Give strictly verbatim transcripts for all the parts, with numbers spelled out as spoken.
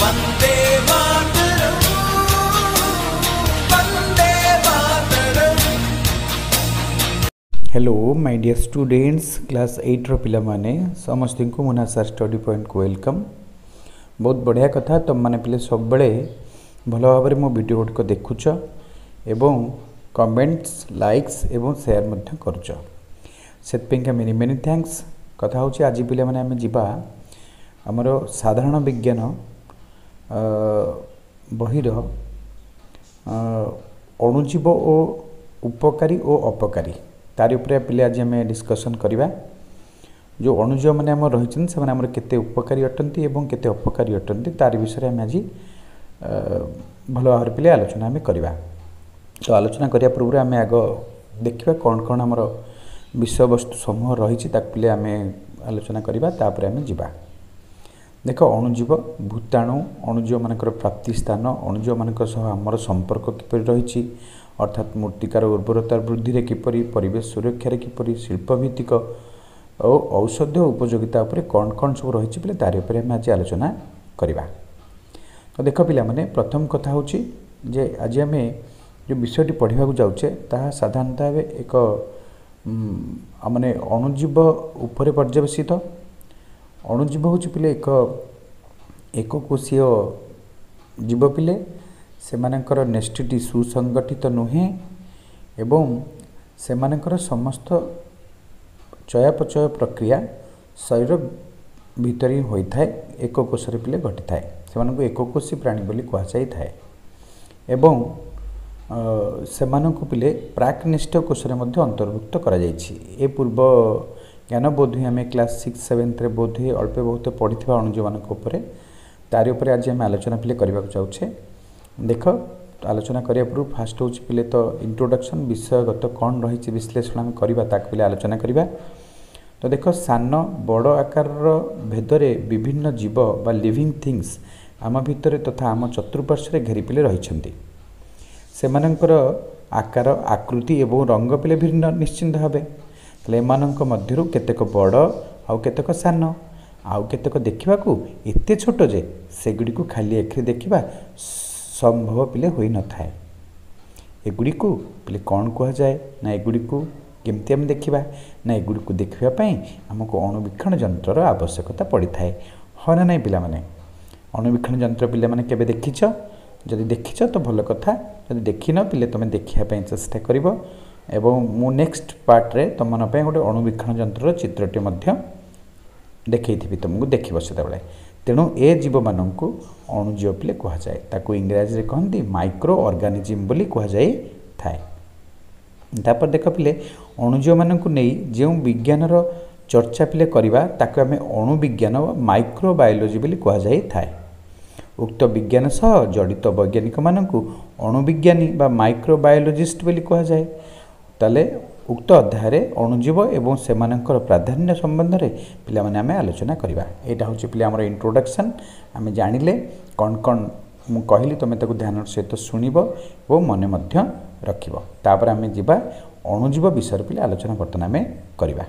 Vande Mataram, Vande Mataram. Hello my dear students, class ଏଇଟ୍ର ପିଲାମାନେ, ସମସ୍ତଙ୍କୁ Muna sir study ପଏଣ୍ଟକୁ welcome. ବହୁତ ବଢ଼ିଆ କଥା, ତୁମମାନେ ପିଲେ ସବୁବେଳେ ଭଲ ଭାବରେ ମୋ ଭିଡ଼ିଓ ଗୁଡ଼ିକ ଦେଖୁଛ ଏବଂ କମେଣ୍ଟସ୍, ଲାଇକ୍ସ ଏବଂ ସେୟାର ମଧ୍ୟ କରୁଛ, ସେଥିପାଇଁକା ମେନି ମେନି thanks. କଥା ହେଉଛି, ଆଜି ପିଲାମାନେ ଆମେ ଯିବା ଆମର ସାଧାରଣ ବିଜ୍ଞାନ ବହିର ଅଣୁଜୀବ ଓ ଉପକାରୀ ଓ ଅପକାରୀ, ତାରି ଉପରେ ପିଲେ ଆଜି ଆମେ ଡିସ୍କସନ୍ କରିବା। ଯେଉଁ ଅଣୁଜୀବମାନେ ଆମର ରହିଛନ୍ତି, ସେମାନେ ଆମର କେତେ ଉପକାରୀ ଅଟନ୍ତି ଏବଂ କେତେ ଅପକାରୀ ଅଟନ୍ତି, ତାରି ବିଷୟରେ ଆମେ ଆଜି ଭଲ ଭାବରେ ପିଲେ ଆଲୋଚନା ଆମେ କରିବା। ତ ଆଲୋଚନା କରିବା ପୂର୍ବରୁ ଆମେ ଆଗ ଦେଖିବା କ'ଣ କ'ଣ ଆମର ବିଷୟବସ୍ତୁ ସମୂହ ରହିଛି, ତାକୁ ପିଲେ ଆମେ ଆଲୋଚନା କରିବା, ତାପରେ ଆମେ ଯିବା। ଦେଖ, ଅଣୁଜୀବ, ଭୂତାଣୁ, ଅଣୁଜୀବମାନଙ୍କର ପ୍ରାପ୍ତି ସ୍ଥାନ, ଅଣୁଜୀବମାନଙ୍କ ସହ ଆମର ସମ୍ପର୍କ କିପରି ରହିଛି, ଅର୍ଥାତ୍ ମୃତ୍ତିକାର ଉର୍ବରତା ବୃଦ୍ଧିରେ କିପରି, ପରିବେଶ ସୁରକ୍ଷାରେ କିପରି, ଶିଳ୍ପଭିତ୍ତିକ ଓ ଔଷଧୀୟ ଉପଯୋଗିତା ଉପରେ କ'ଣ କ'ଣ ସବୁ ରହିଛି ପିଲେ, ତାରି ଉପରେ ଆମେ ଆଜି ଆଲୋଚନା କରିବା। ତ ଦେଖ ପିଲାମାନେ, ପ୍ରଥମ କଥା ହେଉଛି ଯେ ଆଜି ଆମେ ଯେଉଁ ବିଷୟଟି ପଢ଼ିବାକୁ ଯାଉଛେ, ତାହା ସାଧାରଣତଃ ଭାବେ ଏକ ମାନେ ଅଣୁଜୀବ ଉପରେ ପର୍ଯ୍ୟବସିତ। ଅଣୁଜୀବ ହେଉଛି ପିଲେ ଏକ ଏକକୋଷୀୟ ଜୀବ ପିଲେ, ସେମାନଙ୍କର ନେଷ୍ଟିଟି ସୁସଂଗଠିତ ନୁହେଁ ଏବଂ ସେମାନଙ୍କର ସମସ୍ତ ଚୟାପଚୟ ପ୍ରକ୍ରିୟା ଶରୀର ଭିତରେ ହିଁ ହୋଇଥାଏ, ଏକ କୋଷରେ ପିଲେ ଘଟିଥାଏ। ସେମାନଙ୍କୁ ଏକକୋଷୀ ପ୍ରାଣୀ ବୋଲି କୁହାଯାଇଥାଏ ଏବଂ ସେମାନଙ୍କୁ ପିଲେ ପ୍ରାକ୍ନିଷ୍ଠ କୋଷରେ ମଧ୍ୟ ଅନ୍ତର୍ଭୁକ୍ତ କରାଯାଇଛି। ଏ ପୂର୍ବ ଜ୍ଞାନ ବୋଧହୁଏ ଆମେ କ୍ଲାସ୍ ସିକ୍ସ ସେଭେନ୍ଥରେ ବୋଧହୁଏ ଅଳ୍ପ ବହୁତ ପଢ଼ିଥିବା ଅଣୁଜୀବମାନଙ୍କ ଉପରେ, ତାରି ଉପରେ ଆଜି ଆମେ ଆଲୋଚନା ପିଲେ କରିବାକୁ ଯାଉଛେ। ଦେଖ, ଆଲୋଚନା କରିବା ପୂର୍ବରୁ ଫାଷ୍ଟ ହେଉଛି ପିଲେ ତ ଇଣ୍ଟ୍ରୋଡକ୍ସନ୍, ବିଷୟଗତ କ'ଣ ରହିଛି ବିଶ୍ଳେଷଣ ଆମେ କରିବା, ତାକୁ ପିଲେ ଆଲୋଚନା କରିବା। ତ ଦେଖ, ସାନ ବଡ଼ ଆକାରର ଭେଦରେ ବିଭିନ୍ନ ଜୀବ ବା ଲିଭିଂ ଥିଙ୍ଗସ୍ ଆମ ଭିତରେ ତଥା ଆମ ଚତୁଃପାର୍ଶ୍ୱରେ ଘେରି ପିଲେ ରହିଛନ୍ତି। ସେମାନଙ୍କର ଆକାର, ଆକୃତି ଏବଂ ରଙ୍ଗ ପିଲେ ଭିନ୍ନ ନିଶ୍ଚିନ୍ତ ଭାବେ। ତାହେଲେ ଏମାନଙ୍କ ମଧ୍ୟରୁ କେତେକ ବଡ଼ ଆଉ କେତେକ ସାନ, ଆଉ କେତେକ ଦେଖିବାକୁ ଏତେ ଛୋଟ ଯେ ସେଗୁଡ଼ିକୁ ଖାଲି ଆଖିରେ ଦେଖିବା ସମ୍ଭବ ପିଲେ ହୋଇନଥାଏ। ଏଗୁଡ଼ିକୁ ପିଲେ କ'ଣ କୁହାଯାଏ ନା ଏଗୁଡ଼ିକୁ କେମିତି ଆମେ ଦେଖିବା ନା ଏଗୁଡ଼ିକୁ ଦେଖିବା ପାଇଁ ଆମକୁ ଅଣୁବୀକ୍ଷଣ ଯନ୍ତ୍ରର ଆବଶ୍ୟକତା ପଡ଼ିଥାଏ। ହଁ ନା ନାହିଁ ପିଲାମାନେ? ଅଣୁବୀକ୍ଷଣ ଯନ୍ତ୍ର ପିଲାମାନେ କେବେ ଦେଖିଛ? ଯଦି ଦେଖିଛ ତ ଭଲ କଥା, ଯଦି ଦେଖିନ ପିଲେ ତୁମେ ଦେଖିବା ପାଇଁ ଚେଷ୍ଟା କରିବ ଏବଂ ମୁଁ ନେକ୍ସଟ ପାର୍ଟରେ ତୁମମାନଙ୍କ ପାଇଁ ଗୋଟେ ଅଣୁବୀକ୍ଷଣ ଯନ୍ତ୍ରର ଚିତ୍ରଟି ମଧ୍ୟ ଦେଖେଇଥିବି ତୁମକୁ, ଦେଖିବ ସେତେବେଳେ। ତେଣୁ ଏ ଜୀବମାନଙ୍କୁ ଅଣୁଜୀବ ପିଲେ କୁହାଯାଏ, ତାକୁ ଇଂରାଜୀରେ କହନ୍ତି ମାଇକ୍ରୋ ଅର୍ଗାନିଜିମ୍ ବୋଲି କୁହାଯାଇଥାଏ। ତାପରେ ଦେଖ ପିଲେ, ଅଣୁଜୀବମାନଙ୍କୁ ନେଇ ଯେଉଁ ବିଜ୍ଞାନର ଚର୍ଚ୍ଚା ପିଲେ କରିବା, ତାକୁ ଆମେ ଅଣୁବିଜ୍ଞାନ ବା ମାଇକ୍ରୋବାୟୋଲୋଜି ବୋଲି କୁହାଯାଇଥାଏ। ଉକ୍ତ ବିଜ୍ଞାନ ସହ ଜଡ଼ିତ ବୈଜ୍ଞାନିକମାନଙ୍କୁ ଅଣୁବିଜ୍ଞାନୀ ବା ମାଇକ୍ରୋବାୟୋଲୋଜିଷ୍ଟ ବୋଲି କୁହାଯାଏ। ତାହେଲେ ଉକ୍ତ ଅଧ୍ୟାୟରେ ଅଣୁଜୀବ ଏବଂ ସେମାନଙ୍କର ପ୍ରାଧାନ୍ୟ ସମ୍ବନ୍ଧରେ ପିଲାମାନେ ଆମେ ଆଲୋଚନା କରିବା। ଏଇଟା ହେଉଛି ପିଲା ଆମର ଇଣ୍ଟ୍ରୋଡକ୍ସନ୍। ଆମେ ଜାଣିଲେ କ'ଣ କ'ଣ ମୁଁ କହିଲି, ତୁମେ ତାକୁ ଧ୍ୟାନର ସହିତ ଶୁଣିବ ଏବଂ ମନେ ମଧ୍ୟ ରଖିବ। ତାପରେ ଆମେ ଯିବା ଅଣୁଜୀବ ବିଷୟରେ ପିଲେ ଆଲୋଚନା ବର୍ତ୍ତମାନ ଆମେ କରିବା।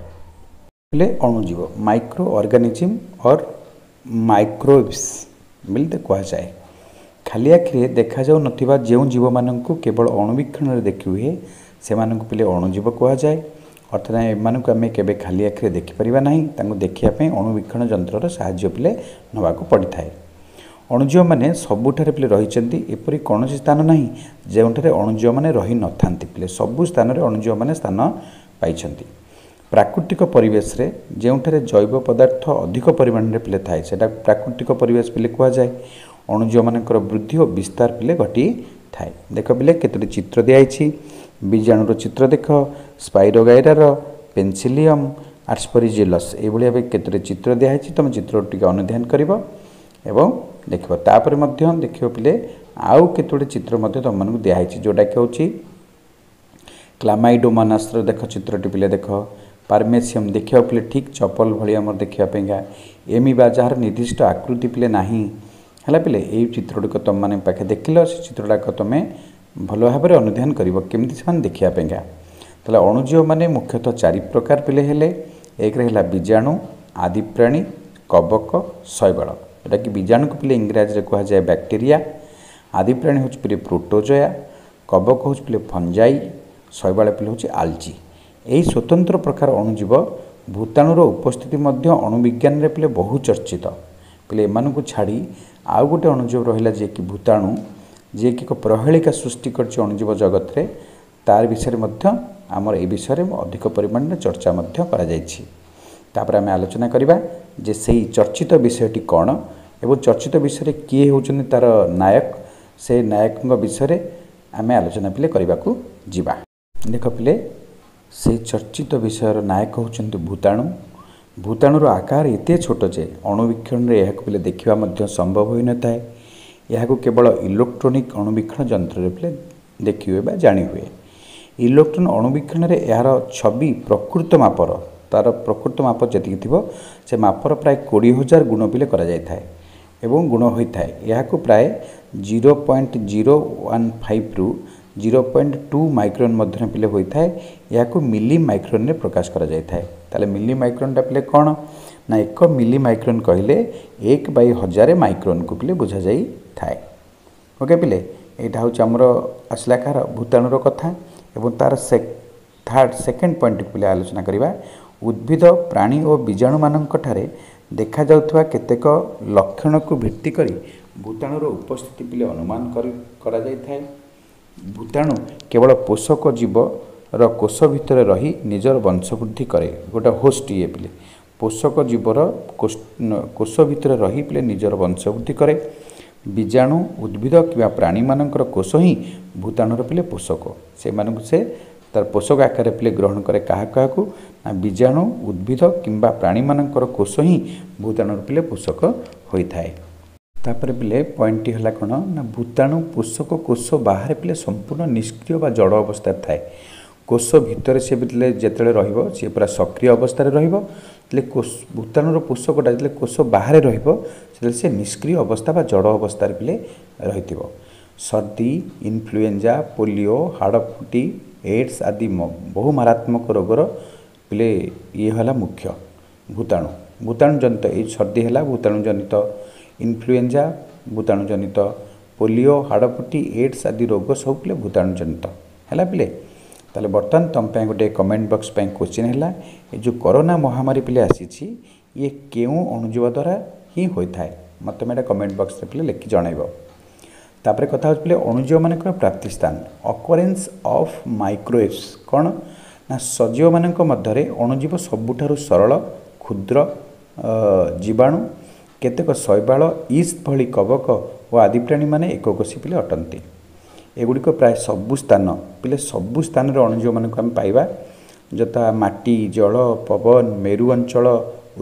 ପିଲେ ଅଣୁଜୀବ, ମାଇକ୍ରୋ ଅର୍ଗାନିଜିମ୍ ଅର୍ ମାଇକ୍ରୋବ୍ସ ବୋଲି କୁହାଯାଏ। ଖାଲି ଆଖିରେ ଦେଖାଯାଉନଥିବା ଯେଉଁ ଜୀବମାନଙ୍କୁ କେବଳ ଅଣୁବୀକ୍ଷଣରେ ଦେଖିହୁଏ, ସେମାନଙ୍କୁ ପିଲେ ଅଣୁଜୀବ କୁହାଯାଏ। ଅର୍ଥାତ୍ ଏମାନଙ୍କୁ ଆମେ କେବେ ଖାଲି ଆଖିରେ ଦେଖିପାରିବା ନାହିଁ, ତାଙ୍କୁ ଦେଖିବା ପାଇଁ ଅଣୁବୀକ୍ଷଣ ଯନ୍ତ୍ରର ସାହାଯ୍ୟ ପିଲେ ନେବାକୁ ପଡ଼ିଥାଏ। ଅଣୁଜୀବମାନେ ସବୁଠାରେ ପିଲେ ରହିଛନ୍ତି, ଏପରି କୌଣସି ସ୍ଥାନ ନାହିଁ ଯେଉଁଠାରେ ଅଣୁଜୀବମାନେ ରହିନଥାନ୍ତି। ପିଲେ ସବୁ ସ୍ଥାନରେ ଅଣୁଜୀବମାନେ ସ୍ଥାନ ପାଇଛନ୍ତି। ପ୍ରାକୃତିକ ପରିବେଶରେ ଯେଉଁଠାରେ ଜୈବ ପଦାର୍ଥ ଅଧିକ ପରିମାଣରେ ପିଲେ ଥାଏ, ସେଇଟା ପ୍ରାକୃତିକ ପରିବେଶ ପିଲେ କୁହାଯାଏ। ଅଣୁଜୀବମାନଙ୍କର ବୃଦ୍ଧି ଓ ବିସ୍ତାର ପିଲେ ଘଟିଥାଏ। ଦେଖ ପିଲେ, କେତୋଟି ଚିତ୍ର ଦିଆହେଇଛି। ବୀଜାଣୁର ଚିତ୍ର ଦେଖ, ସ୍ପାଇରୋଗାଇରାର, ପେନସିଲିୟମ୍, ଆସ୍ପରିଜିଲସ୍, ଏଇଭଳି ଭାବେ କେତୋଟି ଚିତ୍ର ଦିଆହେଇଛି। ତୁମେ ଚିତ୍ର ଟିକେ ଅନୁଧ୍ୟାନ କରିବ ଏବଂ ଦେଖିବ। ତାପରେ ମଧ୍ୟ ଦେଖିବ ପିଲେ, ଆଉ କେତୋଟି ଚିତ୍ର ମଧ୍ୟ ତୁମମାନଙ୍କୁ ଦିଆହେଇଛି, ଯେଉଁଟାକି ହେଉଛି କ୍ଲାମାଇଡୋମାନାସର ଦେଖ ଚିତ୍ରଟି ପିଲେ ଦେଖ, ପାରମେସିୟମ୍ ଦେଖିବାକୁ ପିଲେ ଠିକ୍ ଚପଲ ଭଳି ଆମର ଦେଖିବା ପାଇଁକା, ଏମିବା ଯାହାର ନିର୍ଦ୍ଦିଷ୍ଟ ଆକୃତି ପିଲେ ନାହିଁ। ହେଲା ପିଲେ, ଏଇ ଚିତ୍ରଗୁଡ଼ିକ ତୁମମାନେ ପାଖେ ଦେଖିଲ, ସେ ଚିତ୍ରଟାକ ତୁମେ ଭଲ ଭାବରେ ଅନୁଧ୍ୟାନ କରିବ କେମିତି ସେମାନେ ଦେଖିବା ପାଇଁକା। ତାହେଲେ ଅଣୁଜୀବମାନେ ମୁଖ୍ୟତଃ ଚାରି ପ୍ରକାର ପିଲେ ହେଲେ। ଏକରେ ହେଲା ବୀଜାଣୁ, ଆଦିପ୍ରାଣୀ, କବକ, ଶୈବାଳ। ଯେଉଁଟାକି ବୀଜାଣୁକୁ ପିଲେ ଇଂରାଜୀରେ କୁହାଯାଏ ବ୍ୟାକ୍ଟେରିଆ। ଆଦି ପ୍ରାଣୀ ହେଉଛି ପିଲେ ପ୍ରୋଟୋଜୋଆ, କବକ ହେଉଛି ପିଲେ ଫଞ୍ଜାଇ, ଶୈବାଳ ପିଲେ ହେଉଛି ଆଲଜି। ଏହି ସ୍ୱତନ୍ତ୍ର ପ୍ରକାର ଅଣୁଜୀବ ଭୂତାଣୁର ଉପସ୍ଥିତି ମଧ୍ୟ ଅଣୁବିଜ୍ଞାନରେ ପିଲେ ବହୁ ଚର୍ଚ୍ଚିତ। ପିଲେ ଏମାନଙ୍କୁ ଛାଡ଼ି ଆଉ ଗୋଟେ ଅଣୁଜୀବ ରହିଲା ଯିଏକି ଭୂତାଣୁ, ଯିଏକି ଏକ ପ୍ରହେଳିକା ସୃଷ୍ଟି କରିଛି ଅଣୁଜୀବ ଜଗତରେ, ତାର ବିଷୟରେ ମଧ୍ୟ ଆମର ଏ ବିଷୟରେ ଅଧିକ ପରିମାଣରେ ଚର୍ଚ୍ଚା ମଧ୍ୟ କରାଯାଇଛି। ତାପରେ ଆମେ ଆଲୋଚନା କରିବା ଯେ ସେଇ ଚର୍ଚ୍ଚିତ ବିଷୟଟି କ'ଣ ଏବଂ ଚର୍ଚ୍ଚିତ ବିଷୟରେ କିଏ ହେଉଛନ୍ତି ତା'ର ନାୟକ, ସେ ନାୟକଙ୍କ ବିଷୟରେ ଆମେ ଆଲୋଚନା ପିଲେ କରିବାକୁ ଯିବା। ଦେଖ ପିଲେ, ସେଇ ଚର୍ଚ୍ଚିତ ବିଷୟର ନାୟକ ହେଉଛନ୍ତି ଭୂତାଣୁ। ଭୂତାଣୁର ଆକାର ଏତେ ଛୋଟ ଯେ ଅଣୁବୀକ୍ଷଣରେ ଏହାକୁ ପିଲେ ଦେଖିବା ମଧ୍ୟ ସମ୍ଭବ ହୋଇନଥାଏ। ଏହାକୁ କେବଳ ଇଲେକ୍ଟ୍ରୋନିକ୍ ଅଣୁବୀକ୍ଷଣ ଯନ୍ତ୍ରରେ ପିଲେ ଦେଖି ହୁଏ ବା ଜାଣି ହୁଏ। ଇଲେକ୍ଟ୍ରୋନ୍ ଅଣୁବୀକ୍ଷଣରେ ଏହାର ଛବି ପ୍ରକୃତ ମାପର, ତା'ର ପ୍ରକୃତ ମାପ ଯେତିକି ଥିବ ସେ ମାପର ପ୍ରାୟ କୋଡ଼ିଏ ହଜାର ଗୁଣ ପିଲେ କରାଯାଇଥାଏ ଏବଂ ଗୁଣ ହୋଇଥାଏ। ଏହାକୁ ପ୍ରାୟ ଜିରୋ ପଏଣ୍ଟ ଜିରୋ ୱାନ୍ ଫାଇଭରୁ ଜିରୋ ପଏଣ୍ଟ ଟୁ ମାଇକ୍ରୋନ୍ ମଧ୍ୟରେ ପିଲେ ହୋଇଥାଏ। ଏହାକୁ ମିଲି ମାଇକ୍ରୋନ୍ରେ ପ୍ରକାଶ କରାଯାଇଥାଏ। ତାହେଲେ ମିଲି ମାଇକ୍ରୋନ୍ଟା ପିଲେ କ'ଣ ନା, ଏକ ମିଲି ମାଇକ୍ରୋନ୍ କହିଲେ ଏକ ବାଇ ହଜାରେ ମାଇକ୍ରୋନ୍କୁ ପିଲେ ବୁଝାଯାଇଥାଏ। ଓକେ ପିଲେ, ଏଇଟା ହେଉଛି ଆମର ଆସିଲା କାହାର ଭୂତାଣୁର କଥା। ଏବଂ ତା'ର ସେ ଥାର୍ଡ଼ ସେକେଣ୍ଡ ପଏଣ୍ଟକୁ ପିଲେ ଆଲୋଚନା କରିବା। ଉଦ୍ଭିଦ, ପ୍ରାଣୀ ଓ ବୀଜାଣୁମାନଙ୍କଠାରେ ଦେଖାଯାଉଥିବା କେତେକ ଲକ୍ଷଣକୁ ଭିତ୍ତି କରି ଭୂତାଣୁର ଉପସ୍ଥିତି ପିଲେ ଅନୁମାନ କରି କରାଯାଇଥାଏ। ଭୂତାଣୁ କେବଳ ପୋଷକ ଜୀବର କୋଷ ଭିତରେ ରହି ନିଜର ବଂଶବୃଦ୍ଧି କରେ। ଗୋଟେ ହୋଷ୍ଟ ଇଏ ପିଲେ, ପୋଷକ ଜୀବର କୋଷ ଭିତରେ ରହି ପିଲେ ନିଜର ବଂଶବୃଦ୍ଧି କରେ। ବୀଜାଣୁ, ଉଦ୍ଭିଦ କିମ୍ବା ପ୍ରାଣୀମାନଙ୍କର କୋଷ ହିଁ ଭୂତାଣୁର ପିଲେ ପୋଷକ। ସେମାନଙ୍କୁ ସେ ତାର ପୋଷକ ଆକାରରେ ପିଲେ ଗ୍ରହଣ କରେ। କାହା କାହାକୁ ନା ବୀଜାଣୁ, ଉଦ୍ଭିଦ କିମ୍ବା ପ୍ରାଣୀମାନଙ୍କର କୋଷ ହିଁ ଭୂତାଣୁର ପିଲେ ପୋଷକ ହୋଇଥାଏ। ତାପରେ ପିଲେ ପଏଣ୍ଟଟି ହେଲା କ'ଣ ନା, ଭୂତାଣୁ ପୋଷକ କୋଷ ବାହାରେ ପିଲେ ସମ୍ପୂର୍ଣ୍ଣ ନିଷ୍କ୍ରିୟ ବା ଜଡ଼ ଅବସ୍ଥାରେ ଥାଏ। କୋଷ ଭିତରେ ସେ ପିଲେ ଯେତେବେଳେ ରହିବ ସିଏ ପୁରା ସକ୍ରିୟ ଅବସ୍ଥାରେ ରହିବ। ଯେତେବେଳେ କୋଷ ଭୂତାଣୁର ପୋଷକଟା ଯେତେବେଳେ କୋଷ ବାହାରେ ରହିବ ସେତେବେଳେ ସେ ନିଷ୍କ୍ରିୟ ଅବସ୍ଥା ବା ଜଡ଼ ଅବସ୍ଥାରେ ପିଲେ ରହିଥିବ। ସର୍ଦ୍ଦି, ଇନଫ୍ଲୁଏଞ୍ଜା, ପୋଲିଓ, ହାଡ଼ଫୁଟି, ଏଡ୍ସ ଆଦି ବହୁ ମାରାତ୍ମକ ରୋଗର ପିଲେ ଇଏ ହେଲା ମୁଖ୍ୟ ଭୂତାଣୁ। ଭୂତାଣୁ ଜନିତ ଏଇ ସର୍ଦ୍ଦି ହେଲା ଭୂତାଣୁ ଜନିତ, ଇନଫ୍ଲୁଏଞ୍ଜା ଭୂତାଣୁ ଜନିତ, ପୋଲିଓ, ହାଡ଼ଫୁଟି, ଏଡ୍ସ ଆଦି ରୋଗ ସବୁ ପିଲେ ଭୂତାଣୁ ଜନିତ ହେଲା ପିଲେ। ତାହେଲେ ବର୍ତ୍ତମାନ ତୁମ ପାଇଁ ଗୋଟେ କମେଣ୍ଟ ବକ୍ସ ପାଇଁ କୋଶ୍ଚିନ୍ ହେଲା, ଏ ଯେଉଁ କରୋନା ମହାମାରୀ ପିଲେ ଆସିଛି ଇଏ କେଉଁ ଅଣୁଜୀବ ଦ୍ୱାରା ହିଁ ହୋଇଥାଏ? ମୋତେ ତୁମେ ଏଇଟା କମେଣ୍ଟ ବକ୍ସରେ ପିଲେ ଲେଖି ଜଣାଇବ। ତାପରେ କଥା ହେଉଛି ପିଲେ ଅଣୁଜୀବମାନଙ୍କର ପ୍ରାପ୍ତି ସ୍ଥାନ, ଅକରେନ୍ସ ଅଫ୍ ମାଇକ୍ରୋୱେଭ୍ସ। କ'ଣ ନା, ସଜୀବମାନଙ୍କ ମଧ୍ୟରେ ଅଣୁଜୀବ ସବୁଠାରୁ ସରଳ କ୍ଷୁଦ୍ର ଜୀବାଣୁ। କେତେକ ଶୈବାଳ, ଇଷ୍ଟ ଭଳି କବକ ଓ ଆଦି ପ୍ରାଣୀମାନେ ଏକକୋଷୀ ପିଲେ ଅଟନ୍ତି। ଏଗୁଡ଼ିକ ପ୍ରାୟ ସବୁ ସ୍ଥାନ ପିଲେ ସବୁ ସ୍ଥାନରେ ଅଣୁଜୀବମାନଙ୍କୁ ଆମେ ପାଇବା, ଯଥା ମାଟି, ଜଳ, ପବନ, ମେରୁ ଅଞ୍ଚଳ,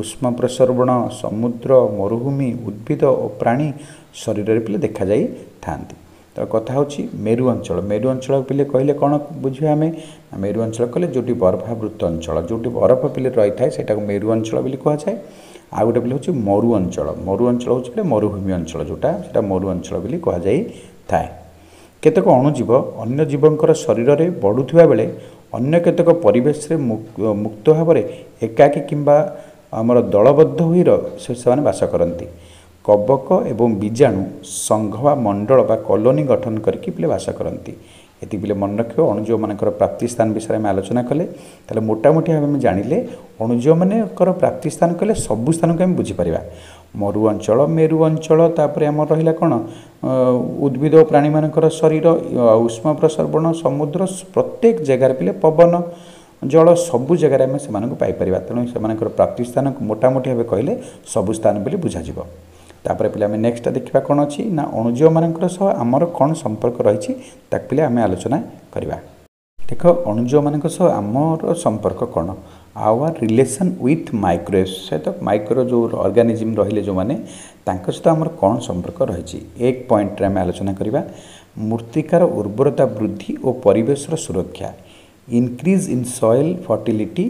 ଉଷ୍ମ ପ୍ରସର୍ବଣ, ସମୁଦ୍ର, ମରୁଭୂମି, ଉଦ୍ଭିଦ ଓ ପ୍ରାଣୀ ଶରୀରରେ ପିଲେ ଦେଖାଯାଇଥାନ୍ତି। ତ କଥା ହେଉଛି ମେରୁ ଅଞ୍ଚଳ। ମେରୁ ଅଞ୍ଚଳ ପିଲେ କହିଲେ କ'ଣ ବୁଝିବା ଆମେ? ମେରୁ ଅଞ୍ଚଳ କହିଲେ ଯେଉଁଠି ବରଫାବୃତ ଅଞ୍ଚଳ, ଯେଉଁଠି ବରଫ ପିଲେ ରହିଥାଏ ସେଇଟାକୁ ମେରୁ ଅଞ୍ଚଳ ବୋଲି କୁହାଯାଏ। ଆଉ ଗୋଟେ ପିଲେ ହେଉଛି ମରୁ ଅଞ୍ଚଳ। ମରୁ ଅଞ୍ଚଳ ହେଉଛି ପିଲେ ମରୁଭୂମି ଅଞ୍ଚଳ, ଯେଉଁଟା ସେଇଟା ମରୁ ଅଞ୍ଚଳ ବୋଲି କୁହାଯାଇଥାଏ। କେତେକ ଅଣୁଜୀବ ଅନ୍ୟ ଜୀବଙ୍କର ଶରୀରରେ ବଢ଼ୁଥିବା ବେଳେ ଅନ୍ୟ କେତେକ ପରିବେଶରେ ମୁକ୍ତ ଭାବରେ ଏକାକୀ କିମ୍ବା ଆମର ଦଳବଦ୍ଧ ହୋଇ ସେମାନେ ବାସ କରନ୍ତି। କବକ ଏବଂ ବୀଜାଣୁ ସଂଘ ବା ମଣ୍ଡଳ ବା କଲୋନୀ ଗଠନ କରିକି ପିଲେ ବାସ କରନ୍ତି। ଏତିକି ପିଲେ ମନେ ରଖିବ। ଅଣୁଜୀବମାନଙ୍କର ପ୍ରାପ୍ତି ସ୍ଥାନ ବିଷୟରେ ଆମେ ଆଲୋଚନା କଲେ। ତାହେଲେ ମୋଟାମୋଟି ଭାବେ ଆମେ ଜାଣିଲେ ଅଣୁଜୀବମାନଙ୍କର ପ୍ରାପ୍ତି ସ୍ଥାନ କହିଲେ ସବୁ ସ୍ଥାନକୁ ଆମେ ବୁଝିପାରିବା। ମରୁ ଅଞ୍ଚଳ, ମେରୁ ଅଞ୍ଚଳ, ତାପରେ ଆମର ରହିଲା କ'ଣ ଉଦ୍ଭିଦ ଓ ପ୍ରାଣୀମାନଙ୍କର ଶରୀର, ଉଷ୍ମ ପ୍ରସର୍ବଣ, ସମୁଦ୍ର, ପ୍ରତ୍ୟେକ ଜାଗାରେ ପିଲେ ପବନ, ଜଳ, ସବୁ ଜାଗାରେ ଆମେ ସେମାନଙ୍କୁ ପାଇପାରିବା। ତେଣୁ ସେମାନଙ୍କର ପ୍ରାପ୍ତି ସ୍ଥାନକୁ ମୋଟାମୋଟି ଭାବେ କହିଲେ ସବୁ ସ୍ଥାନ ବୋଲି ବୁଝାଯିବ। ତାପରେ ପିଲେ ଆମେ ନେକ୍ସଟ ଦେଖିବା କ'ଣ ଅଛି ନା, ଅଣୁଜୀବମାନଙ୍କର ସହ ଆମର କ'ଣ ସମ୍ପର୍କ ରହିଛି ତାକୁ ପିଲେ ଆମେ ଆଲୋଚନା କରିବା। ଦେଖ, ଅଣୁଜୀବମାନଙ୍କ ସହ ଆମର ସମ୍ପର୍କ କ'ଣ? ଆୱାର ରିଲେସନ୍ ୱିଥ୍ ମାଇକ୍ରୋୱେଭ୍ସ ସହିତ, ମାଇକ୍ରୋ ଯେଉଁ ଅର୍ଗାନିଜିମ୍ ରହିଲେ ଯେଉଁମାନେ, ତାଙ୍କ ସହିତ ଆମର କ'ଣ ସମ୍ପର୍କ ରହିଛି ଏକ ପଏଣ୍ଟରେ ଆମେ ଆଲୋଚନା କରିବା। ମୃତ୍ତିକାର ଉର୍ବରତା ବୃଦ୍ଧି ଓ ପରିବେଶର ସୁରକ୍ଷା, increase in soil fertility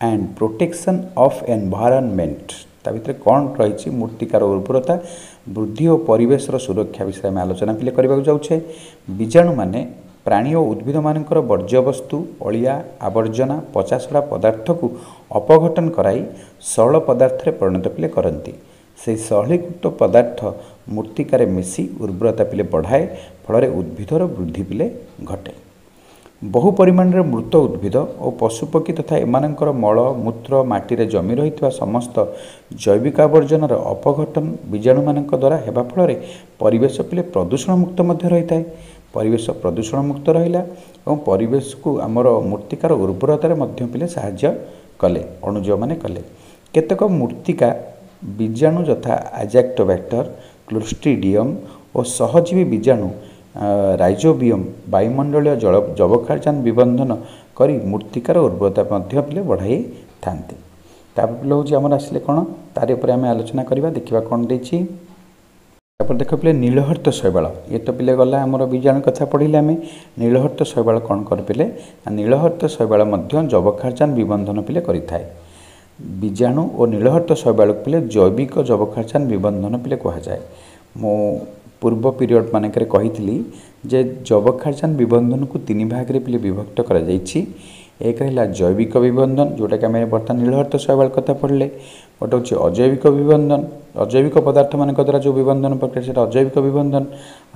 and protection of environment. ତା ଭିତରେ କ'ଣ ରହିଛି? ମୃତ୍ତିକାର ଉର୍ବରତା ବୃଦ୍ଧି ଓ ପରିବେଶର ସୁରକ୍ଷା ବିଷୟରେ ଆମେ ଆଲୋଚନା ପିଲେ କରିବାକୁ ଯାଉଛେ। ବୀଜାଣୁମାନେ ପ୍ରାଣୀ ଓ ଉଦ୍ଭିଦମାନଙ୍କର ବର୍ଜ୍ୟବସ୍ତୁ, ଅଳିଆ ଆବର୍ଜନା, ପଚାସଢ଼ା ପଦାର୍ଥକୁ ଅପଘଟନ କରାଇ ସରଳ ପଦାର୍ଥରେ ପରିଣତ ପିଲେ କରନ୍ତି। ସେହି ସରଳୀକୃତ ପଦାର୍ଥ ମୃତ୍ତିକାରେ ମିଶି ଉର୍ବରତା ପିଲେ ବଢ଼ାଏ, ଫଳରେ ଉଦ୍ଭିଦର ବୃଦ୍ଧି ପିଲେ ଘଟେ। ବହୁ ପରିମାଣରେ ମୃତ ଉଦ୍ଭିଦ ଓ ପଶୁପକ୍ଷୀ ତଥା ଏମାନଙ୍କର ମଳ ମୂତ୍ର ମାଟିରେ ଜମି ରହିଥିବା ସମସ୍ତ ଜୈବିକ ଆବର୍ଜନାର ଅପଘଟନ ବୀଜାଣୁମାନଙ୍କ ଦ୍ୱାରା ହେବା ଫଳରେ ପରିବେଶ ପିଲେ ପ୍ରଦୂଷଣମୁକ୍ତ ମଧ୍ୟ ରହିଥାଏ। ପରିବେଶ ପ୍ରଦୂଷଣମୁକ୍ତ ରହିଲା ଏବଂ ପରିବେଶକୁ ଆମର ମୃତ୍ତିକାର ଉର୍ବରତାରେ ମଧ୍ୟ ପିଲେ ସାହାଯ୍ୟ କଲେ, ଅଣୁଜୀବମାନେ କଲେ। କେତେକ ମୃତ୍ତିକା ବୀଜାଣୁ ଯଥା ଆଜାକ୍ଟୋବ୍ୟାକ୍ଟର, କ୍ଲୋଷ୍ଟ୍ରିଡ଼ିୟମ୍ ଓ ସହଜୀବୀ ବୀଜାଣୁ ରାଇଜୋବିୟମ୍ ବାୟୁମଣ୍ଡଳୀୟ ଜଳ ଯବକ୍ଷାରଜାନ ବିବନ୍ଧନ କରି ମୃତ୍ତିକାର ଉର୍ବରତା ମଧ୍ୟ ପିଲେ ବଢ଼ାଇଥାନ୍ତି। ତାପରେ ପିଲେ ହେଉଛି ଆମର ଆସିଲେ କ'ଣ, ତାରି ଉପରେ ଆମେ ଆଲୋଚନା କରିବା, ଦେଖିବା କ'ଣ ଦେଇଛି। ତାପରେ ଦେଖ ପିଲେ ନୀଳହରିତ ଶୈବାଳ। ଇଏ ତ ପିଲେ ଗଲା ଆମର ବୀଜାଣୁ କଥା ପଢ଼ିଲେ ଆମେ। ନୀଳହରିତ ଶୈବାଳ କ'ଣ କରେ ପିଲେ? ନୀଳହରିତ ଶୈବାଳ ମଧ୍ୟ ଯବକ୍ଷାରଜାନ ବିବନ୍ଧନ ପିଲେ କରିଥାଏ। ବୀଜାଣୁ ଓ ନୀଳହରିତ ଶୈବାଳକୁ ପିଲେ ଜୈବିକ ଯବକ୍ଷାରଜାନ ବିବନ୍ଧନ ପିଲେ କୁହାଯାଏ। ମୁଁ ପୂର୍ବ ପିରିୟଡ଼ ମାନଙ୍କରେ କହିଥିଲି ଯେ ଯବକ୍ଷାରଜାନ ବିବନ୍ଧନକୁ ତିନି ଭାଗରେ ପିଲେ ବିଭକ୍ତ କରାଯାଇଛି। ଏକ ହେଲା ଜୈବିକ ବିବନ୍ଧନ, ଯେଉଁଟାକି ଆମେ ବର୍ତ୍ତମାନ ନୀଳହରିତ ଶୈବାଳ କଥା ପଢ଼ିଲେ। ଗୋଟେ ହେଉଛି ଅଜୈବିକ ବିବନ୍ଧନ, ଅଜୈବିକ ପଦାର୍ଥମାନଙ୍କ ଦ୍ୱାରା ଯେଉଁ ବିବନ୍ଧନ ପ୍ରକ୍ରିୟା ସେଇଟା ଅଜୈବିକ ବିବନ୍ଧନ।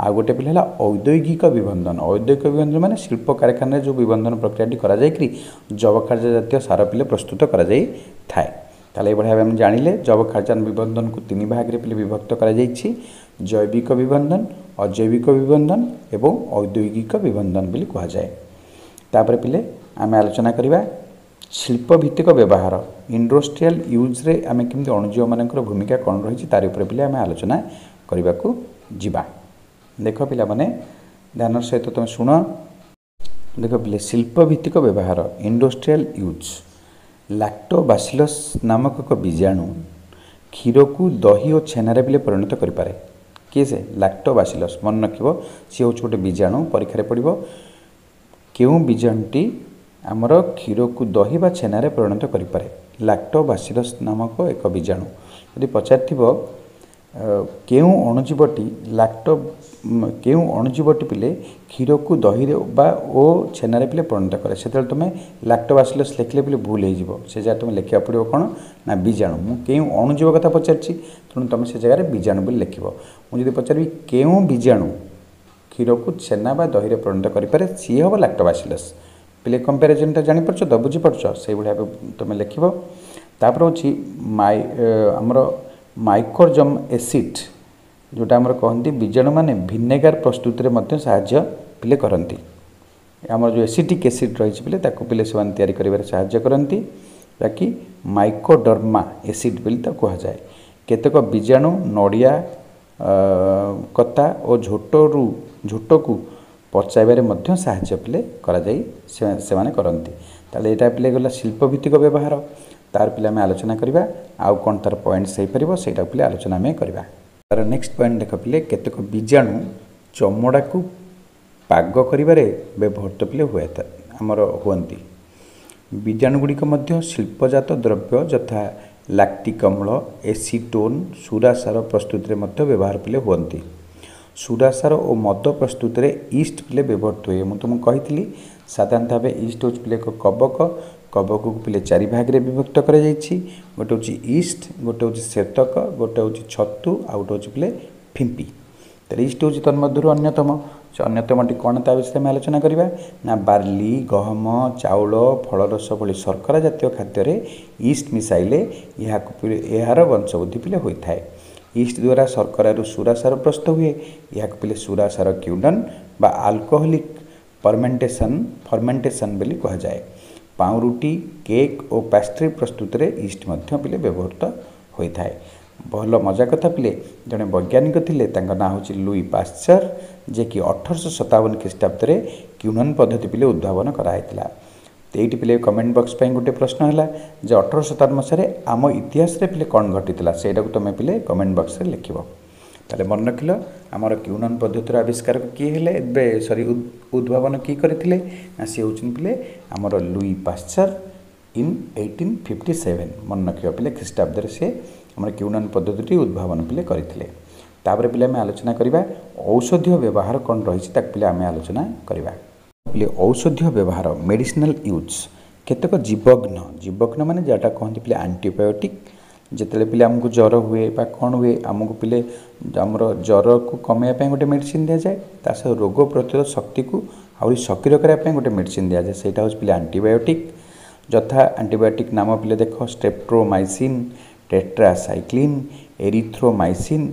ଆଉ ଗୋଟେ ପିଲା ହେଲା ଔଦ୍ୟୋଗିକ ବିବନ୍ଧନ। ଔଦ୍ୟୋଗିକ ବିବନ୍ଧନ ମାନେ ଶିଳ୍ପ କାରଖାନାରେ ଯେଉଁ ବିବନ୍ଧନ ପ୍ରକ୍ରିୟାଟି କରାଯାଇକରି ଯବକ୍ଷାରଜାନ ଜାତୀୟ ସାର ପିଲେ ପ୍ରସ୍ତୁତ କରାଯାଇଥାଏ। ତାହେଲେ ଏଇଭଳି ଭାବେ ଆମେ ଜାଣିଲେ ଯବକ୍ଷାରଜାନ ବିବନ୍ଧନକୁ ତିନି ଭାଗରେ ପିଲେ ବିଭକ୍ତ କରାଯାଇଛି, ଜୈବିକ ବିବନ୍ଧନ, ଅଜୈବିକ ବିବନ୍ଧନ ଏବଂ ଔଦ୍ୟୋଗିକ ବିବନ୍ଧନ ବୋଲି କୁହାଯାଏ। ତାପରେ ପିଲେ ଆମେ ଆଲୋଚନା କରିବା ଶିଳ୍ପଭିତ୍ତିକ ବ୍ୟବହାର, ଇଣ୍ଡଷ୍ଟ୍ରିଆଲ ୟୁଜ୍ରେ ଆମେ କେମିତି ଅଣୁଜୀବମାନଙ୍କର ଭୂମିକା କ'ଣ ରହିଛି ତାରି ଉପରେ ପିଲେ ଆମେ ଆଲୋଚନା କରିବାକୁ ଯିବା। ଦେଖ ପିଲାମାନେ ଧ୍ୟାନର ସହିତ ତୁମେ ଶୁଣ। ଦେଖ ପିଲେ ଶିଳ୍ପଭିତ୍ତିକ ବ୍ୟବହାର, ଇଣ୍ଡଷ୍ଟ୍ରିଆଲ ୟୁଜ୍। ଲାକ୍ଟୋବାସିଲସ୍ ନାମକ ଏକ ବୀଜାଣୁ କ୍ଷୀରକୁ ଦହି ଓ ଛେନାରେ ପିଲେ ପରିଣତ କରିପାରେ। କିଏ ସେ? ଲାକ୍ଟୋବାସିଲସ୍। ମନେ ରଖିବ ସିଏ ହେଉଛି ଗୋଟେ ବୀଜାଣୁ, ପରୀକ୍ଷାରେ ପଡ଼ିବ। କେଉଁ ବୀଜାଣୁଟି ଆମର କ୍ଷୀରକୁ ଦହି ବା ଛେନାରେ ପରିଣତ କରିପାରେ? ଲାକ୍ଟୋବାସିଲସ୍ ନାମକ ଏକ ବୀଜାଣୁ। ଯଦି ପଚାରିଥିବ କେଉଁ ଅଣୁଜୀବଟି ଲାକ୍ଟୋ କେଉଁ ଅଣୁଜୀବଟି ପିଲେ କ୍ଷୀରକୁ ଦହିରେ ବା ଓ ଛେନାରେ ପିଲେ ପରିଣତ କରେ, ସେତେବେଳେ ତୁମେ ଲାକ୍ଟୋବାସିଲସ୍ ଲେଖିଲେ ପିଲେ ଭୁଲ ହେଇଯିବ। ସେ ଜାଗାରେ ତୁମେ ଲେଖିବାକୁ ପଡ଼ିବ କ'ଣ ନା ବୀଜାଣୁ। ମୁଁ କେଉଁ ଅଣୁଜୀବ କଥା ପଚାରିଛି, ତେଣୁ ତୁମେ ସେ ଜାଗାରେ ବୀଜାଣୁ ବୋଲି ଲେଖିବ। ମୁଁ ଯଦି ପଚାରିବି କେଉଁ ବୀଜାଣୁ କ୍ଷୀରକୁ ଛେନା ବା ଦହିରେ ପରିଣତ କରିପାରେ, ସିଏ ହେବ ଲାକ୍ଟୋବାସିଲସ୍। ପିଲେ କମ୍ପାରିଜନ୍ଟା ଜାଣିପାରୁଛ ତ, ବୁଝିପାରୁଛ? ସେଇଭଳି ଭାବେ ତୁମେ ଲେଖିବ। ତାପରେ ହେଉଛି ମାଇ ଆମର ମାଇକ୍ରୋଜମ୍ ଏସିଡ୍, ଯେଉଁଟା ଆମର କହନ୍ତି ବୀଜାଣୁମାନେ ଭିନେଗାର ପ୍ରସ୍ତୁତିରେ ମଧ୍ୟ ସାହାଯ୍ୟ ପିଲେ କରନ୍ତି। ଆମର ଯେଉଁ ଏସିଟିକ୍ ଏସିଡ୍ ରହିଛି ପିଲେ, ତାକୁ ପିଲେ ସେମାନେ ତିଆରି କରିବାରେ ସାହାଯ୍ୟ କରନ୍ତି, ଯାହାକି ମାଇକ୍ରୋଡର୍ମା ଏସିଡ୍ ବୋଲି ତାକୁ କୁହାଯାଏ। କେତେକ ବୀଜାଣୁ ନଡ଼ିଆ କତା ଓ ଝୋଟରୁ ଝୋଟକୁ ପଚାଇବାରେ ମଧ୍ୟ ସାହାଯ୍ୟ ପିଲେ କରାଯାଇ ସେମାନେ କରନ୍ତି। ତାହେଲେ ଏଇଟା ପିଲେ ଗଲା ଶିଳ୍ପଭିତ୍ତିକ ବ୍ୟବହାର। ତାର ପିଲେ ଆମେ ଆଲୋଚନା କରିବା ଆଉ କ'ଣ ତାର ପଏଣ୍ଟସ୍ ହେଇପାରିବ, ସେଇଟା ପିଲେ ଆଲୋଚନା ଆମେ କରିବା। ତାର ନେକ୍ସଟ ପଏଣ୍ଟ ଦେଖ ପିଲେ, କେତେକ ବୀଜାଣୁ ଚମଡ଼ାକୁ ପାଗ କରିବାରେ ବ୍ୟବହୃତ ପିଲେ ହୁଏ ଆମର ହୁଅନ୍ତି। ବୀଜାଣୁ ଗୁଡ଼ିକ ମଧ୍ୟ ଶିଳ୍ପଜାତ ଦ୍ରବ୍ୟ ଯଥା ଲାକ୍ଟିକ୍ ଅମ୍ଳ, ଏସିଟୋନ୍, ସୁରାସାର ପ୍ରସ୍ତୁତିରେ ମଧ୍ୟ ବ୍ୟବହାର ପିଲେ ହୁଅନ୍ତି। ସୁରାସାର ଓ ମଦ ପ୍ରସ୍ତୁତିରେ ଇଷ୍ଟ ପିଲେ ବ୍ୟବହୃତ ହୁଏ। ମୁଁ ତୁମକୁ କହିଥିଲି ସାଧାରଣତଃ ଭାବେ ଇଷ୍ଟ ହେଉଛି ପିଲେ ଏକ କବକ। କବକକୁ ପିଲେ ଚାରି ଭାଗରେ ବିଭକ୍ତ କରାଯାଇଛି। ଗୋଟେ ହେଉଛି ଇଷ୍ଟ, ଗୋଟେ ହେଉଛି ଶ୍ଵେତକ, ଗୋଟେ ହେଉଛି ଛତୁ, ଆଉ ଗୋଟେ ହେଉଛି ପିଲେ ଫିମ୍ପି। ତାହେଲେ ଇଷ୍ଟ ହେଉଛି ତନ୍ମଧ୍ୟରୁ ଅନ୍ୟତମ। ସେ ଅନ୍ୟତମଟି କ'ଣ ତା ବିଷୟରେ ଆମେ ଆଲୋଚନା କରିବା ନା ବାର୍ଲି, ଗହମ, ଚାଉଳ, ଫଳରସ ଭଳି ଶର୍କରା ଜାତୀୟ ଖାଦ୍ୟରେ ଇଷ୍ଟ ମିଶାଇଲେ ଏହାକୁ ଏହାର ବଂଶବୃଦ୍ଧି ପିଲେ ହୋଇଥାଏ। ଇଷ୍ଟ ଦ୍ୱାରା ଶର୍କରାରୁ ସୁରାସାର ପ୍ରସ୍ତୁତ ହୁଏ। ଏହାକୁ ପିଲେ ସୁରାସାର କ୍ୟୁଡନ୍ ବା ଆଲକୋହଲିକ୍ ଫର୍ମେଣ୍ଟେସନ୍ ଫର୍ମେଣ୍ଟେସନ୍ ବୋଲି କୁହାଯାଏ। ପାଉଁରୁଟି, କେକ୍ ଓ ପାଷ୍ଟ୍ରି ପ୍ରସ୍ତୁତିରେ ଇଷ୍ଟ ମଧ୍ୟ ପିଲେ ବ୍ୟବହୃତ ହୋଇଥାଏ। ଭଲ ମଜା କଥା ପିଲେ, ଜଣେ ବୈଜ୍ଞାନିକ ଥିଲେ, ତାଙ୍କ ନାଁ ହେଉଛି ଲୁଇ ପାଶ୍ଚର, ଯିଏକି ଅଠରଶହ ସତାବନ ଖ୍ରୀଷ୍ଟାବ୍ଦରେ କ୍ୟୁନନ୍ ପଦ୍ଧତି ପିଲେ ଉଦ୍ଭାବନ କରାହେଇଥିଲା। ଏଇଠି ପିଲେ କମେଣ୍ଟ ବକ୍ସ ପାଇଁ ଗୋଟେ ପ୍ରଶ୍ନ ହେଲା ଯେ ଅଠରଶହ ସତାବନ ମସିହାରେ ଆମ ଇତିହାସରେ ପିଲେ କ'ଣ ଘଟିଥିଲା, ସେଇଟାକୁ ତୁମେ ପିଲେ କମେଣ୍ଟ ବକ୍ସରେ ଲେଖିବ। ତାହେଲେ ମନେ ରଖିଲ ଆମର କ୍ୟୁନନ୍ ପଦ୍ଧତିର ଆବିଷ୍କାରକ କିଏ ହେଲେ, ଏବେ ସରି ଉଦ୍ଭାବନ କିଏ କରିଥିଲେ ନା ସିଏ ହେଉଛନ୍ତି ପିଲେ ଆମର Louis Pasteur in eighteen fifty seven. ମନେ ରଖିବ ପିଲେ ଖ୍ରୀଷ୍ଟାବ୍ଦରେ ସେ ଆମର କ୍ୟୁନନ୍ ପଦ୍ଧତିଟି ଉଦ୍ଭାବନ ପିଲେ କରିଥିଲେ। ତାପରେ ପିଲେ ଆମେ ଆଲୋଚନା କରିବା ଔଷଧୀୟ ବ୍ୟବହାର କ'ଣ ରହିଛି, ତାକୁ ପିଲେ ଆମେ ଆଲୋଚନା କରିବା। ପିଲେ ଔଷଧୀୟ ବ୍ୟବହାର, ମେଡ଼ିସିନାଲ ୟୁଜ୍। କେତେକ ଜୀବଘ୍ନ, ଜୀବଘ୍ନ ମାନେ ଯେଉଁଟା କହନ୍ତି ପିଲେ ଆଣ୍ଟିବାୟୋଟିକ୍, ଯେତେବେଳେ ପିଲେ ଆମକୁ ଜ୍ୱର ହୁଏ ବା କ'ଣ ହୁଏ, ଆମକୁ ପିଲେ ଆମର ଜ୍ୱରକୁ କମାଇବା ପାଇଁ ଗୋଟେ ମେଡ଼ିସିନ୍ ଦିଆଯାଏ, ତା ସହ ରୋଗ ପ୍ରତିରୋଧ ଶକ୍ତିକୁ ଆହୁରି ସକ୍ରିୟ କରିବା ପାଇଁ ଗୋଟେ ମେଡ଼ିସିନ୍ ଦିଆଯାଏ, ସେଇଟା ହେଉଛି ପିଲେ ଆଣ୍ଟିବାୟୋଟିକ୍। ଯଥା ଆଣ୍ଟିବାୟୋଟିକ୍ ନାମ ପିଲେ ଦେଖ, ଷ୍ଟ୍ରେପ୍ଟୋମାଇସିନ୍, ଟେଟ୍ରାସାଇକ୍ଲିନ୍, ଏରିଥ୍ରୋମାଇସିନ୍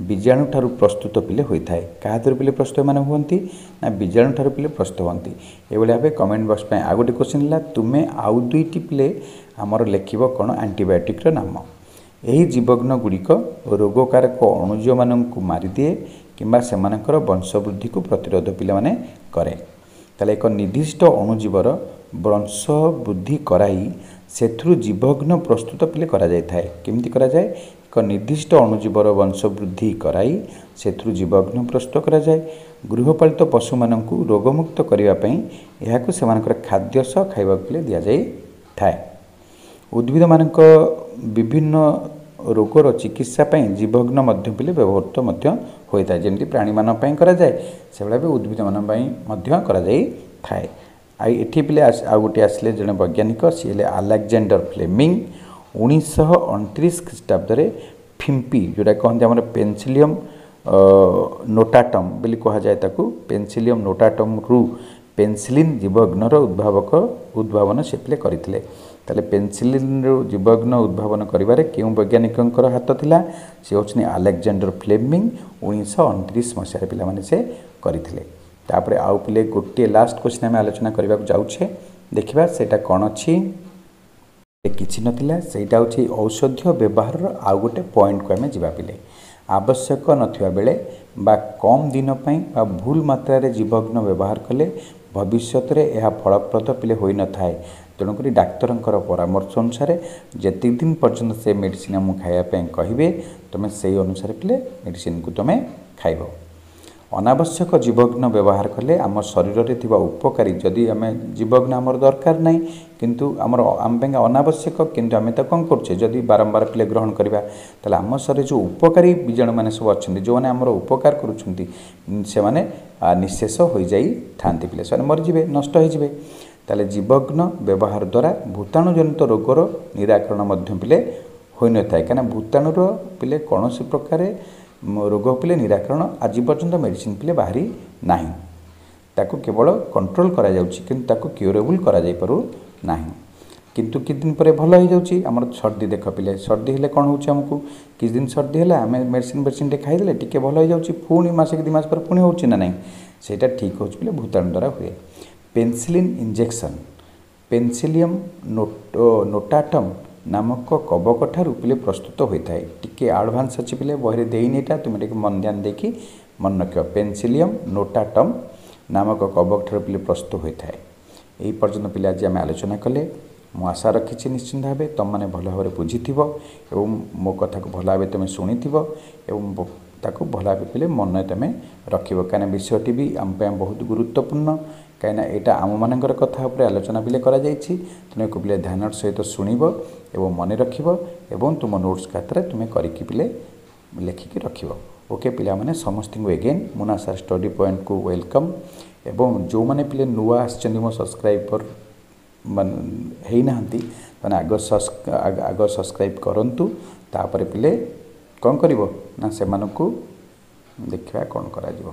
ବୀଜାଣୁ ଠାରୁ ପ୍ରସ୍ତୁତ ପିଲେ ହୋଇଥାଏ। କାହା ଦ୍ୱାରା ପିଲେ ପ୍ରସ୍ତୁତ ମାନେ ହୁଅନ୍ତି ନା ବୀଜାଣୁ ଠାରୁ ପିଲେ ପ୍ରସ୍ତୁତ ହୁଅନ୍ତି। ଏଇଭଳି ଭାବେ କମେଣ୍ଟ ବକ୍ସ ପାଇଁ ଆଉ ଗୋଟେ କ୍ୱେଶ୍ଚିନ୍ ହେଲା, ତୁମେ ଆଉ ଦୁଇଟି ପିଲେ ଆମର ଲେଖିବ କ'ଣ ଆଣ୍ଟିବାୟୋଟିକ୍ର ନାମ। ଏହି ଜୀବଘ୍ନ ଗୁଡ଼ିକ ରୋଗକାରକ ଅଣୁଜୀବମାନଙ୍କୁ ମାରିଦିଏ କିମ୍ବା ସେମାନଙ୍କର ବଂଶବୃଦ୍ଧିକୁ ପ୍ରତିରୋଧ ପିଲାମାନେ କରେ। ତାହେଲେ ଏକ ନିର୍ଦ୍ଦିଷ୍ଟ ଅଣୁଜୀବର ବଂଶ ବୃଦ୍ଧି କରାଇ ସେଥିରୁ ଜୀବଘ୍ନ ପ୍ରସ୍ତୁତ ପିଲେ କରାଯାଇଥାଏ। କେମିତି କରାଯାଏ? ଏକ ନିର୍ଦ୍ଦିଷ୍ଟ ଅଣୁଜୀବର ବଂଶବୃଦ୍ଧି କରାଇ ସେଥିରୁ ଜୀବଘ୍ନ ପ୍ରସ୍ତୁତ କରାଯାଏ। ଗୃହପାଳିତ ପଶୁମାନଙ୍କୁ ରୋଗମୁକ୍ତ କରିବା ପାଇଁ ଏହାକୁ ସେମାନଙ୍କର ଖାଦ୍ୟ ସହ ଖାଇବାକୁ ପିଲେ ଦିଆଯାଇଥାଏ। ଉଦ୍ଭିଦମାନଙ୍କ ବିଭିନ୍ନ ରୋଗର ଚିକିତ୍ସା ପାଇଁ ଜୀବଘ୍ନ ମଧ୍ୟ ପିଲେ ବ୍ୟବହୃତ ମଧ୍ୟ ହୋଇଥାଏ। ଯେମିତି ପ୍ରାଣୀମାନଙ୍କ ପାଇଁ କରାଯାଏ, ସେଭଳି ଭାବେ ଉଦ୍ଭିଦମାନଙ୍କ ପାଇଁ ମଧ୍ୟ କରାଯାଇଥାଏ। ଆଉ ଏଠି ପିଲେ ଆଉ ଗୋଟିଏ ଆସିଲେ ଜଣେ ବୈଜ୍ଞାନିକ, ସିଏ ହେଲେ ଆଲେକ୍ଜାଣ୍ଡର ଫ୍ଲେମିଂ। ଉଣେଇଶହ ଅଣତିରିଶ ଖ୍ରୀଷ୍ଟାବ୍ଦରେ ଫିମ୍ପି, ଯେଉଁଟା କହନ୍ତି ଆମର ପେନସିଲିୟମ୍ ନୋଟାଟମ୍ ବୋଲି କୁହାଯାଏ ତାକୁ, ପେନସିଲିୟମ୍ ନୋଟାଟମ୍ରୁ ପେନସିଲିନ୍ ଜୀବଘ୍ନର ଉଦ୍ଭାବକ ଉଦ୍ଭାବନ ସେ ପିଲେ କରିଥିଲେ। ତାହେଲେ ପେନସିଲିନ୍ରୁ ଜୀବଘ୍ନ ଉଦ୍ଭାବନ କରିବାରେ କେଉଁ ବୈଜ୍ଞାନିକଙ୍କର ହାତ ଥିଲା? ସେ ହେଉଛନ୍ତି ଆଲେକ୍ଜାଣ୍ଡର ଫ୍ଲେମିଂ। ଉଣେଇଶହ ଅଣତିରିଶ ମସିହାରେ ପିଲାମାନେ ସେ କରିଥିଲେ। ତାପରେ ଆଉ ପିଲେ ଗୋଟିଏ ଲାଷ୍ଟ କ୍ୱେଶ୍ଚିନ୍ ଆମେ ଆଲୋଚନା କରିବାକୁ ଯାଉଛେ, ଦେଖିବା ସେଇଟା କ'ଣ ଅଛି। କିଛି ନଥିଲା, ସେଇଟା ହେଉଛି ଔଷଧୀୟ ବ୍ୟବହାରର ଆଉ ଗୋଟେ ପଏଣ୍ଟକୁ ଆମେ ଯିବା ପିଲେ। ଆବଶ୍ୟକ ନଥିବା ବେଳେ ବା କମ୍ ଦିନ ପାଇଁ ବା ଭୁଲ ମାତ୍ରାରେ ଜୀବଘ୍ନ ବ୍ୟବହାର କଲେ ଭବିଷ୍ୟତରେ ଏହା ଫଳପ୍ରଦ ପିଲେ ହୋଇନଥାଏ। ତେଣୁକରି ଡାକ୍ତରଙ୍କର ପରାମର୍ଶ ଅନୁସାରେ ଯେତିକି ଦିନ ପର୍ଯ୍ୟନ୍ତ ସେ ମେଡ଼ିସିନ୍ ଆମକୁ ଖାଇବା ପାଇଁ କହିବେ, ତୁମେ ସେଇ ଅନୁସାରେ ପିଲେ ମେଡ଼ିସିନ୍କୁ ତୁମେ ଖାଇବ। ଅନାବଶ୍ୟକ ଜୀବଘ୍ନ ବ୍ୟବହାର କଲେ ଆମ ଶରୀରରେ ଥିବା ଉପକାରୀ, ଯଦି ଆମେ ଜୀବଘ୍ନ ଆମର ଦରକାର ନାହିଁ କିନ୍ତୁ ଆମର ଆମ ପାଇଁ ଅନାବଶ୍ୟକ, କିନ୍ତୁ ଆମେ ତାକୁ କ'ଣ କରୁଛେ, ଯଦି ବାରମ୍ବାର ପିଲେ ଗ୍ରହଣ କରିବା, ତାହେଲେ ଆମ ଶରୀରରେ ଯେଉଁ ଉପକାରୀ ବୀଜାଣୁମାନେ ସବୁ ଅଛନ୍ତି, ଯେଉଁମାନେ ଆମର ଉପକାର କରୁଛନ୍ତି, ସେମାନେ ନିଃଶେଷ ହୋଇଯାଇଥାନ୍ତି ପିଲେ, ସେମାନେ ମରିଯିବେ, ନଷ୍ଟ ହୋଇଯିବେ। ତାହେଲେ ଜୀବଘ୍ନ ବ୍ୟବହାର ଦ୍ୱାରା ଭୂତାଣୁଜନିତ ରୋଗର ନିରାକରଣ ମଧ୍ୟ ପିଲେ ହୋଇନଥାଏ। କାହିଁକିନା ଭୂତାଣୁର ପିଲେ କୌଣସି ପ୍ରକାରେ ରୋଗ ପିଲେ ନିରାକରଣ ଆଜି ପର୍ଯ୍ୟନ୍ତ ମେଡ଼ିସିନ୍ ପିଲେ ବାହାରି ନାହିଁ। ତାକୁ କେବଳ କଣ୍ଟ୍ରୋଲ୍ କରାଯାଉଛି, କିନ୍ତୁ ତାକୁ କ୍ୟୁରେବୁଲ୍ କରାଯାଇପାରୁ ନାହିଁ। କିନ୍ତୁ କିଛି ଦିନ ପରେ ଭଲ ହେଇଯାଉଛି। ଆମର ସର୍ଦ୍ଦି ଦେଖ ପିଲେ, ସର୍ଦ୍ଦି ହେଲେ କ'ଣ ହେଉଛି ଆମକୁ, କିଛି ଦିନ ସର୍ଦ୍ଦି ହେଲେ ଆମେ ମେଡ଼ିସିନ୍ ଫେଡ଼ିସିନ୍ ଟିକେ ଖାଇଦେଲେ ଟିକେ ଭଲ ହେଇଯାଉଛି, ପୁଣି ମାସେ କି ଦୁଇ ମାସ ପରେ ପୁଣି ହେଉଛି ନା ନାହିଁ? ସେଇଟା ଠିକ୍ ହେଉଛି ପିଲେ ଭୂତାଣୁ ଦ୍ୱାରା ହୁଏ। ପେନସିଲିନ୍ ଇଞ୍ଜେକ୍ସନ୍ ପେନସିଲିୟମ୍ ନୋଟାଟମ୍ ନାମକ କବକ ଠାରୁ ପିଲେ ପ୍ରସ୍ତୁତ ହୋଇଥାଏ। ଟିକେ ଆଡ଼ଭାନ୍ସ ଅଛି ପିଲେ, ବହିରେ ଦେଇନି ଏଇଟା, ତୁମେ ଟିକେ ମନ ଧ୍ୟାନ ଦେଇକି ମନେ ରଖିବ। ପେନସିଲିୟମ୍ ନୋଟାଟମ୍ ନାମକ କବକ ଠାରୁ ପିଲେ ପ୍ରସ୍ତୁତ ହୋଇଥାଏ। ଏହି ପର୍ଯ୍ୟନ୍ତ ପିଲେ ଆଜି ଆମେ ଆଲୋଚନା କଲେ। ମୁଁ ଆଶା ରଖିଛି ନିଶ୍ଚିନ୍ତ ଭାବେ ତୁମମାନେ ଭଲ ଭାବରେ ବୁଝିଥିବ ଏବଂ ମୋ କଥାକୁ ଭଲ ଭାବେ ତୁମେ ଶୁଣିଥିବ ଏବଂ ତାକୁ ଭଲ ଭାବେ ପିଲେ ମନେ ତୁମେ ରଖିବ, କାହିଁକିନା ବିଷୟଟି ବି ଆମ ପାଇଁ ବହୁତ ଗୁରୁତ୍ୱପୂର୍ଣ୍ଣ। କାହିଁକିନା ଏଇଟା ଆମମାନଙ୍କର କଥା ଉପରେ ଆଲୋଚନା ପିଲେ କରାଯାଇଛି। ତେଣୁ ଏକୁ ପିଲେ ଧ୍ୟାନର ସହିତ ଶୁଣିବ ଏବଂ ମନେ ରଖିବ ଏବଂ ତୁମ ନୋଟ୍ସ ଖାତାରେ ତୁମେ କରିକି ପିଲେ ଲେଖିକି ରଖିବ। ଓକେ ପିଲାମାନେ, ସମସ୍ତଙ୍କୁ ଏଗେନ୍ ମୁନା ସାର୍ ଷ୍ଟଡି ପଏଣ୍ଟକୁ welcome. ଏବଂ ଯେଉଁମାନେ ପିଲେ ନୂଆ ଆସିଛନ୍ତି ମୋ ସବସ୍କ୍ରାଇବର ମାନେ ହେଇନାହାନ୍ତି, ମାନେ ଆଗ ଆଗ ସବସ୍କ୍ରାଇବ୍ କରନ୍ତୁ, ତାପରେ ପିଲେ କ'ଣ କରିବ ନା ସେମାନଙ୍କୁ ଦେଖିବା କ'ଣ କରାଯିବ।